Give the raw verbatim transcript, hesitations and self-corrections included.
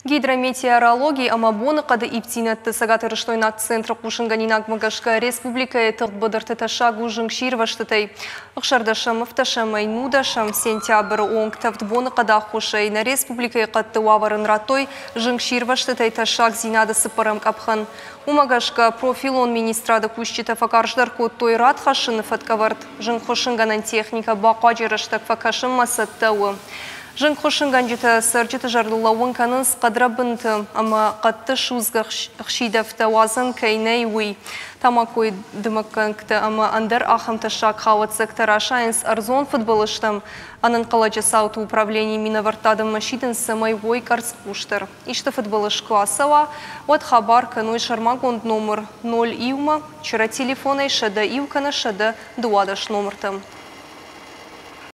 Гидрометеорологи ӕмӕ боныхъӕды ивддзинӕдты цӕгатирыстойнаг центры хъусынгӕнинагмӕ гӕсгӕ республикӕйы тыгъд быдырты тӕссаг у зынгсирвӕзтытӕй. Ӕхсӕрдӕсӕм, ӕвддӕсӕмӕй нудӕсӕм сентябры онг тӕвд боныхъӕды аххосӕй нӕ республикӕйы хъӕдты уавӕрӕн радтой зынгсирвӕзтытӕй тӕссагдзинады цыппӕрӕм къӕпхӕн. Уымӕ гӕсгӕ профилон министрады кусджытӕ фӕкарздӕр кодтой рад хӕссыны фӕткӕвӕрд. Зынгхуыссынгӕнӕн техникӕ бахъуаджы рӕстӕг фӕкӕсынмӕ цӕттӕ у. Зынгхуыссынгӕнджытӕ цӕрджыты зӕрдыл лӕууын кӕнынц хъӕдрӕбынты ӕмӕ хъӕдты судзгӕ ӕхсидӕвтӕ уадзӕн кӕй нӕй, уый. Тамакойы дымӕггӕнгтӕ ӕмӕ ӕндӕр ахӕм тӕссаг хауӕццӕгтӕ расайынц ӕрдзон фыдбылызтӕм. Ӕнӕнхъӕлӕджы цауты управленийы минӕвӕрттӕ адӕммӕ сидынц, цӕмӕй уой къӕрцхъусдӕр. Исты фыдбылыз куы ацӕуа, уӕд хабар кӕной сӕрмагонд номыр ноль иумӕ, чырӕ телефонӕй сӕдӕ иу кӕнӕ сӕдӕ дыууадӕс номыртӕм.